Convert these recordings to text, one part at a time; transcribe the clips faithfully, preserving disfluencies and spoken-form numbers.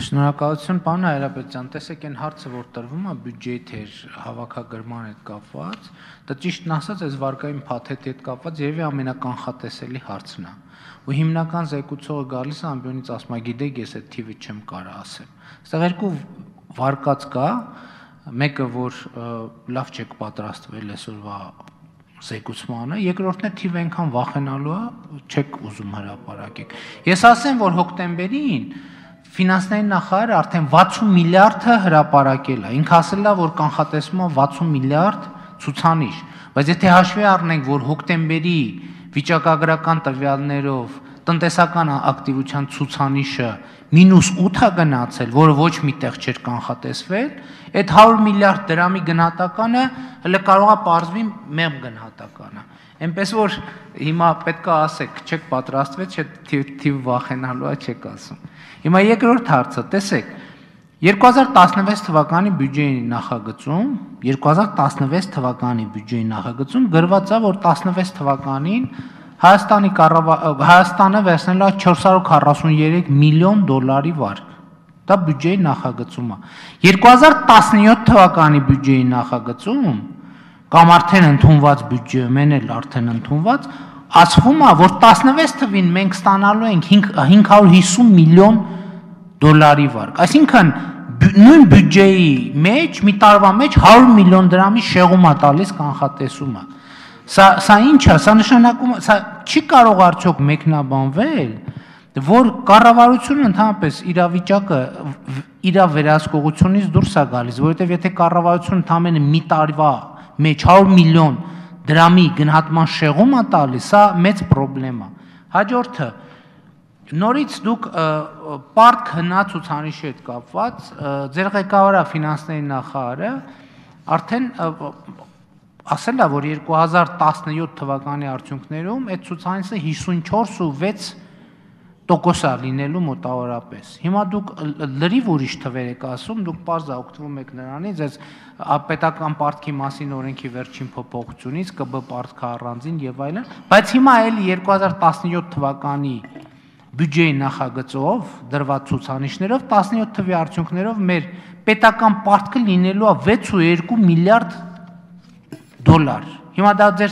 Շնորհակալություն, պարոն Հայրապետյան, տեսեք այն հարցը, որ տրվում է բյուջեի թեր հավաքագրման հետ կապված, դա ճիշտն ասած, այս վարկային փաթեթի հետ կապված երևի ամենականխատեսելի հարցն է։ Ու հիմնական զեկուցողը գալիս է ամբյոնից ասում է, գիտեք, ես այդ թիվը չեմ կարող ասեմ։ Այստեղ երկու վարկած կա, մեկը որ լավ չեք պատրաստվել այսօրվա զեկուցմանը, երկրորդն է թիվը այնքան վախենալու է, չեք ուզում հրապարակեք։ Ես ասեմ, որ հոկտեմբերին ֆինանսների նախարարը արդեն վաթսուն միլիարդը հրապարակել է, ինքը ասել է, որ կանխատեսվում է վաթսուն միլիարդ ցուցանիշ, բայց եթե հաշվի առնենք, որ հոկտեմբերի վիճակագրական տվյալներով տնտեսական ակտիվության ցուցանիշը մինուս ութ է գնացել, որը ոչ միտեղ չէր կանխատեսվել, այդ հարյուր միլիարդ դրամի գնահատականը հələ կարող է պարզվի մեղմ գնահատականը։ Այնպես որ հիմա պետք է ասեք, չեք պատրաստվել, չէ թիվ վախենալու է չեք ասում։ Հիմա երկրորդ հարցը, տեսեք, երկու հազար տասնվեց թվականի բյուջեի նախագծում, երկու հազար տասնվեց թվականի բյուջեի նախագծում գրված է, որ տասնվեց թվականին Հայաստանի Հայաստանը վերցնել է չորս հարյուր քառասուններեք միլիոն դոլարի վարկ։ Դա բյուջեի նախագծում է։ երկու հազար տասնյոթ թվականի բյուջեի նախագծում կամ արդեն ընդունված բյուջեում են էլ արդեն ընդունված, ասվում է, որ տասնվեց թվին մենք ստանալու ենք հինգ հարյուր հիսուն միլիոն դոլարի վարկ։ Այսինքն նույն բյուջեի մեջ մի տարվա մեջ հարյուր միլիոն դրամի շեղում է տալիս կանխատեսումը։ Սա սա ինչ է, սա նշանակում է, սա չի կարող արդյոք մեկնաբանվել, որ կառավարությունը ընդհանրապես իրավիճակը իր վերահսկողությունից դուրս է գալիս, որովհետև եթե կառավարությունը ընդամենը մի տարվա մեջ հարյուր միլիոն դրամի գնահատման շեղում է տալիս, սա մեծ խնդրեմ է։ Հաջորդը, նորից դուք պարտ հնա ցուցանիշի հետ կապված, ձեր ղեկավարը ֆինանսների նախարարը արդեն ասել է, որ երկու հազար տասնյոթ թվականի արդյունքներում այդ ցուցանիշը հիսունչորս ու վեց տոկոս է լինելու մոտավորապես։ Հիմա դուք լրիվ ուրիշ թվեր եք ասում, դուք պարզ է օգտվում եք նրանից, այս պետական պարտքի մասին օրենքի վերջին փոփոխությունից, ԿԲ պարտքը առանձին եւ այլն, բայց հիմա էլ երկու հազար տասնյոթ թվականի բյուջեի նախագծով դրված ցուցանիշներով տասնյոթ թվի արդյունքներով մեր պետական պարտքը լինելու է վեց ու երկու միլիարդ դոլար։ Հիմա դա ձեր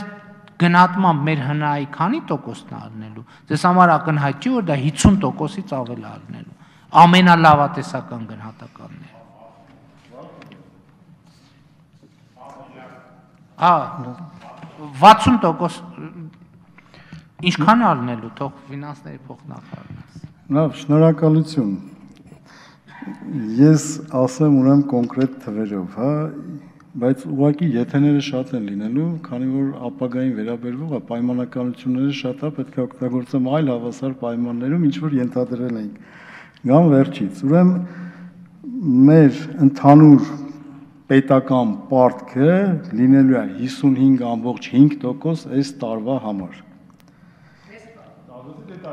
գնահատմամբ մեր հնայի քանի տոկոսն է ալնելու։ Ձեզ համար ակնհայտ չի, որ դա հիսուն տոկոսից ավել է ալնելու։ Ամենալավատեսական գնահատականն է։ Հա, վաթսուն տոկոս ինչքան է ալնելու, թող ֆինանսների փոխնախարարն ասի։ Լավ, շնորհակալություն։ Ես ասեմ ուրեմն կոնկրետ թվերով, հա, բայց ուղղակի եթեները շատ են լինելու, քանի որ ապագային վերաբերվող է, պայմանականությունները շատ է, պետք է օգտագործեմ այլ հավասար պայմաններում, ինչ որ ենթադրել ենք։ Գամ վերջից, ուրեմն մեր ընդհանուր պետական պարտքը լինելու է հիսունհինգ ամբողջ հինգ տոկոս այս տարվա համար։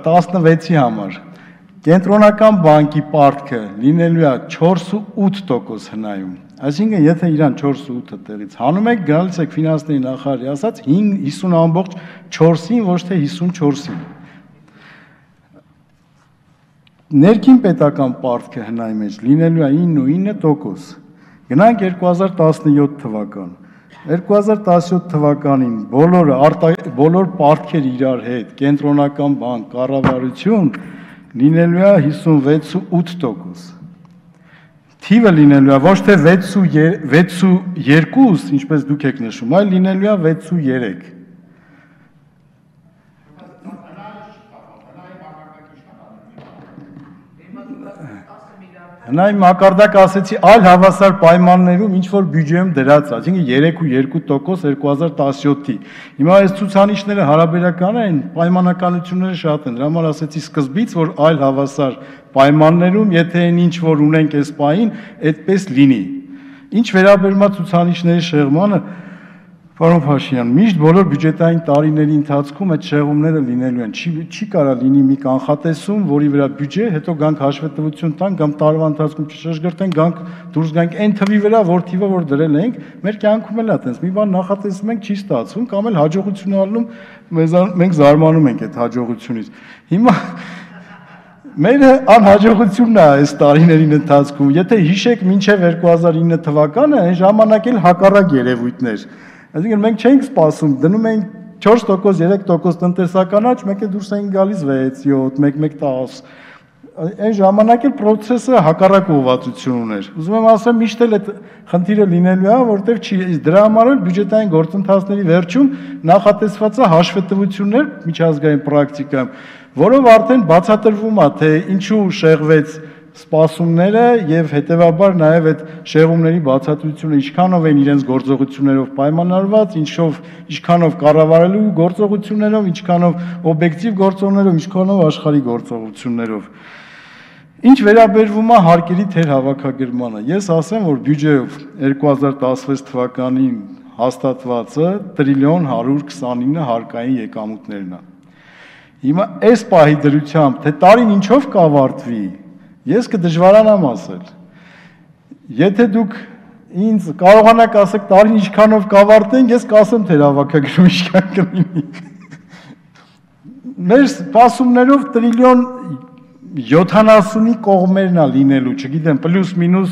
տասնվեցի համար։ Կենտրոնական բանկի պարտքը լինելու է չորս ու ութ տոկոս հնայում։ Այսինքն, եթե իրան չորս ու ութը տեղից հանում եք, գալիս եք ֆինանսների նախարարի ասած հիսուն ամբողջ չորսին, ոչ թե հիսունչորսին։ Ներքին պետական պարտքը հնայի մեջ լինելու է ինը ու ինը տոկոս։ Գնանք երկու հազար տասնյոթ թվական։ երկու հազար տասնյոթ թվականին բոլորը բոլոր պարտքեր իրար հետ, կենտրոնական բանկ, կառավարություն լինելու է հիսունվեց ու ութ տոկոս։ Թիվը լինելու է ոչ թե վեց ու երկու, ինչպես դուք եք նշում, այլ լինելու է վեց ու երեք։ Հնայի մակարդակ ասեցի այլ հավասար պայմաններում ինչ որ բյուջեում դրած է, այսինքն երեք ու երկու տոկոս երկու հազար տասնյոթի։ Հիմա այս ցուցանիշները հարաբերական են, պայմանականությունները շատ են, դրա համար ասեցի սկզբից, որ այլ հավասար պայմաններում, եթե այն ինչ որ ունենք այս պահին, այդպես լինի։ Ինչ վերաբերում է ցուցանիշների շեղմանը, պարոն Փաշինյան, միշտ բոլոր բյուջետային տարիների ընթացքում այդ շեղումները լինելու են։ Չի չի կարա լինի մի կանխատեսում, որի վրա բյուջե, հետո գանք հաշվետվություն տանք, կամ տարվա ընթացքում չշրջգրտենք, գանք դուրս գանք այն թվի վրա, որ թիվը որ դրել ենք, մեր կյանքում էլ է այդպես։ Մի բան նախատեսում ենք, չի ստացվում, կամ էլ հաջողություն ալնում, մենք զարմանում ենք այդ հաջողությունից։ Հիմա Մեր անհաջողությունն է այս տարիներին ընթացքում։ Եթե հիշեք մինչև երկու հազար ինը թվականը, այն ժամանակ էլ հակառակ երևույթներ։ Այսինքն մենք չէինք սպասում, դնում էինք չորս տոկոս, երեք տոկոս տնտեսական աճ, մեկ է դուրս էին գալիս վեց, յոթ, մեկ մեկ տասը։ Այն ժամանակ էլ process-ը հակառակ ուղղվածություն ուներ։ Ուզում եմ ասեմ, միշտ էլ այդ խնդիրը լինելու է, որտեղ չի դրա համար էլ բյուջետային գործընթացների վերջում նախատեսված է հաշվետվություններ միջազգային պրակտիկայում, որով արդեն բացատրվում է, թե ինչու շեղվեց սպասումները եւ հետեւաբար նաեւ այդ շեղումների բացատրությունը ինչքանով են իրենց գործողություններով պայմանավորված, ինչով ինչքանով կառավարելու գործողություններով, ինչքանով օբյեկտիվ գործոններով, ինչքանով աշխարհի գործողություններով։ Ինչ վերաբերվում է հարկերի թեր հավաքագրմանը, ես ասեմ, որ բյուջեով երկու հազար տասնվեց թվականին հաստատվածը տրիլիոն հարյուր քսանինը հարկային եկամուտներն է։ Հիմա այս պահի դրությամբ, թե տարին ինչով կավարտվի, ես կդժվարանամ ասել։ Եթե դուք ինձ կարողանաք ասեք տարին ինչքանով կավարտենք, ես կասեմ թե հավաքագրում ինչքան կլինի։ Մեր սպասումներով տրիլիոն յոթանասունի կողմերն է լինելու, չգիտեմ, պլյուս մինուս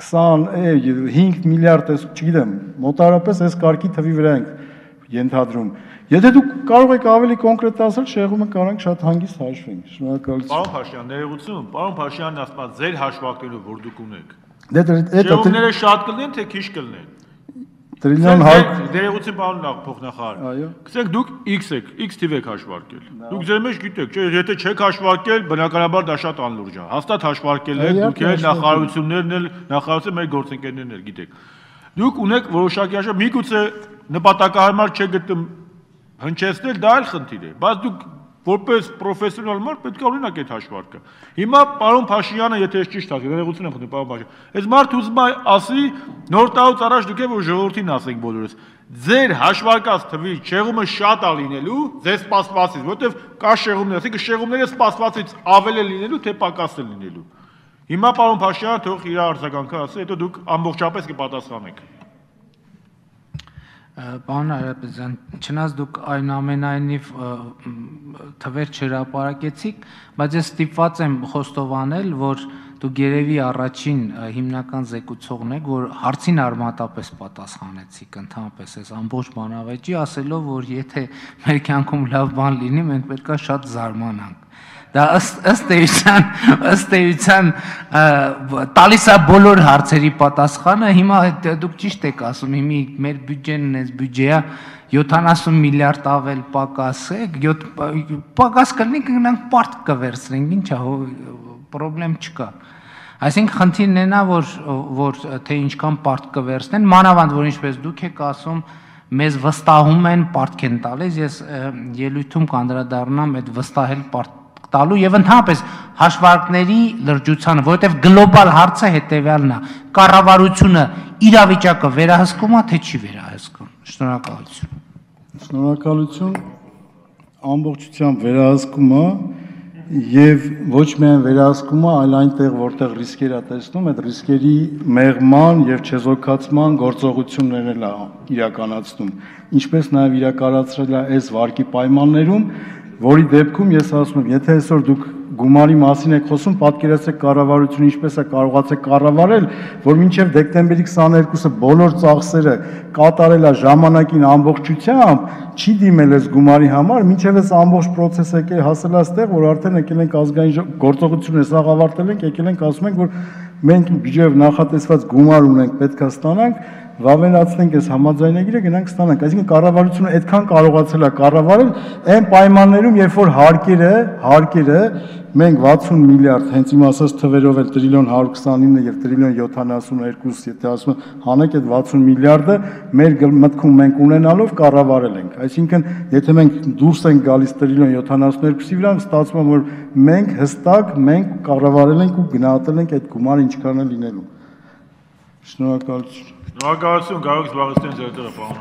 քսանհինգ միլիարդ, չգիտեմ, մոտավորապես այս կարգի թվի վրա ենք ենթադրում։ Եթե դուք կարող եք ավելի կոնկրետ ասել, շեղումը կարանք շատ հանգիստ հաշվենք։ Շնորհակալություն։ Պարոն Փաշյան, ներողություն, պարոն Փաշյանն ասաց ձեր հաշվարկներով, որ դուք ունեք։ Շեղումները շատ կլինեն, թե քիչ կլինեն։ Տրիլիոն ներողություն, պարոն փոխնախարար։ Այո։ Գիտեք, դուք X եք, X թիվ եք հաշվարկել։ Դուք ձեր մեջ գիտեք, չէ, եթե չեք հաշվարկել, բնականաբար դա շատ անլուրջ է։ Հաստատ հաշվարկել եք, դուք էլ նախարարություններն էլ, նախարարությունը մեր գործընկերներն էլ գիտեք։ Դուք ունեք որոշակի հաշվարկ, միգուցե նպատակահարմար չգտնում հնչեցնել, դա էլ խնդիր է, բայց դուք որպես պրոֆեսիոնալ մարդ պետք է ունենաք այդ հաշվարկը։ Հիմա պարոն Փաշյանը, եթե ես ճիշտ ասեմ, ներողություն եմ խնդրում, պարոն Փաշյան, այս մարդը ուզում է ասի, նոր տարուց առաջ դուք եք որ ժողովրդին ասենք բոլորս, ձեր հաշվարկած թվի շեղումը շատ է լինելու, ձեր սպասվածից, որովհետև կա շեղումներ, ասենք շեղումները սպասվածից ավել է լինելու, թե պակաս է լինելու։ Հիմա պարոն Փաշյանը թող իր արձագանքը ասի, հետո դուք ամբողջապես կպատասխանեք։ Պարոն Արարատյան, չնայած դուք այնուամենայնիվ թվեր չհրապարակեցիք, բայց ես ստիպված եմ խոստովանել, որ դուք երևի առաջին հիմնական զեկուցողն եք, որ հարցին արմատապես պատասխանեցիք ընդհանրապես այս ամբողջ բանավեճի, ասելով, որ եթե մեր կյանքում լավ բան լինի, մենք պետք է շատ զարմանանք։ Դա ըստ էության, ըստ էության տալիս է բոլոր հարցերի պատասխանը, հիմա դուք ճիշտ եք ասում, հիմի մեր բյուջեն այս բյուջեա յոթանասուն միլիարդ ավել պակաս է, պակաս կլինի կգնանք պարտ կվերցնենք, ինչ է, պրոբլեմ չկա։ Այսինքն խնդիրն է նա, որ թե ինչքան պարտ կվերցնեն, մանավանդ որ ինչպես դուք եք ասում, մեզ վստահում են, պարտք են տալիս, ես ելույթում կանդրադառնամ այդ վստահել պարտ տալու եւ ընդհանրապես հաշվարկների լրջությանը, որովհետեւ գլոբալ հարցը հետեւյալն է. կառավարությունը իրավիճակը վերահսկում է, թե չի վերահսկում։ Շնորհակալություն։ Շնորհակալություն, ամբողջությամբ վերահսկում է եւ ոչ միայն վերահսկում է, այլ այնտեղ, որտեղ ռիսկեր է տեսնում, այդ ռիսկերի մեղման եւ չեզոքացման գործողություններն է իրականացնում, ինչպես նաեւ իրականացրել է այս վարկի պայմաններում, որի դեպքում ես ասում եմ, եթե այսօր դուք գումարի մասին եք խոսում, պատկերացրեք կառավարությունը ինչպես է կարողացել կառավարել, որ մինչև դեկտեմբերի քսաներկուսը բոլոր ծախսերը կատարել է ժամանակին ամբողջությամբ, չի դիմել այս գումարի համար, մինչև այս ամբողջ process-ը եկել հասել այստեղ, որ արդեն եկել ենք ազգային գործողությունը սաղ ավարտել ենք, եկել ենք ասում ենք, որ մենք բյուջեով նախատեսված գումար ունենք, պետք է ստանանք, վավերացնենք այս համաձայնագիրը, գնանք ստանանք։ Այսինքն կառավարությունը այդքան կարողացել է կառավարել այն պայմաններում, երբ որ հարկերը, հարկերը մենք վաթսուն միլիարդ, հենց իմ ասած թվերով էլ տրիլիոն հարյուր քսանինը եւ տրիլիոն յոթանասունհինգ, եթե ասում եմ, հանեք այդ վաթսուն միլիարդը մեր մտքում մենք ունենալով կառավարել ենք։ Այսինքն, եթե մենք դուրս ենք գալիս տրիլիոն յոթանասունհինգի վրա, ստացվում է, որ մենք հստակ մենք կառավարել ենք ու գնահատել ենք այդ գումարը ինչքան է լինելու։ Շնորհակալություն։ Շնորհակալություն, կարող եք զբաղեցնել ձեր տեղը, պարոն